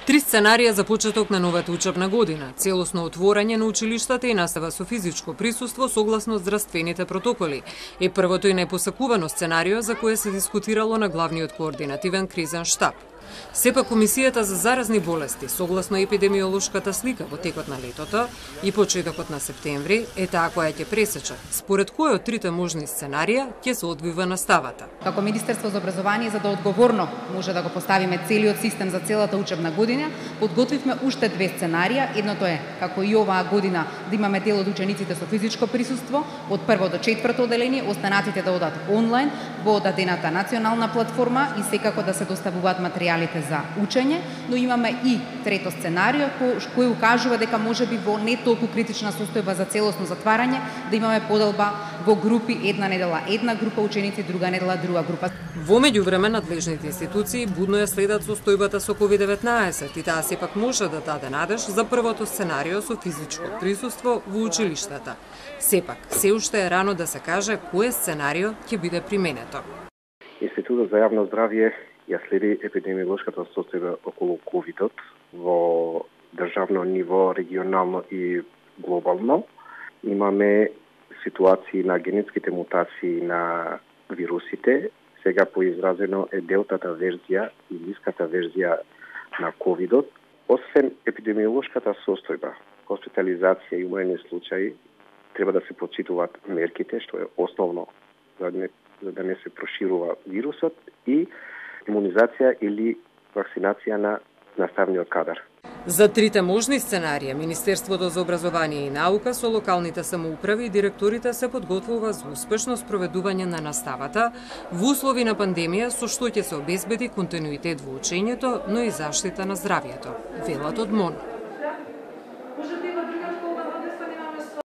Три сценарија за почеток на новата учебна година, целосно отворање на училиштата и настава со физичко присуство согласно здравствените протоколи, е првото и најпосакувано сценарио за кое се дискутирало на главниот координативен кризен штаб. Сепак Комисијата за заразни болести, согласно епидемиолошката слика во текот на летото и почетокот на септември, е таа која ќе пресече според кој од трите можни сценарија ќе се одвива наставата. Како Министерство за образование, за да одговорно може да го поставиме целиот систем за целата учебна година, подготвивме уште две сценарија. Едното е, како и оваа година, да имаме дел од учениците со физичко присуство, од прво до четврто оделение, останатите да одат онлайн во одадената национална платформа и секако да се доставуваат материјалите за учење, но имаме и трето сценарио кој укажува дека можеби во не толку критична состојба за целосно затварање да имаме поделба во групи, една недела една група ученици, друга недела друга група. Во меѓувреме надлежните институции будно ја следат состојбата со COVID-19 и таа сепак може да даде надеж за првото сценарио со физичко присуство во училиштата. Сепак, се уште е рано да се каже кое сценарио ќе биде применето. Институтот за јавно здравје ја следи епидемиолошката состојба околу ковидот во државно ниво, регионално и глобално. Имаме ситуации на генетските мутации на вирусите. Сега поизразено е делтата верзија и ниската верзија на ковидот. Освен епидемиолошката состојба, хоспитализација и умрени случаи, треба да се почитуваат мерките, што е основно за да не се проширува вирусот, и имунизација или вакцинација на наставниот кадар. За трите можни сценарија, Министерството за образование и наука со локалните самоуправи и директорите се подготвува за успешно спроведување на наставата во услови на пандемија, со што ќе се обезбеди континуитет во учењето, но и заштита на здравјето, велат од МОН.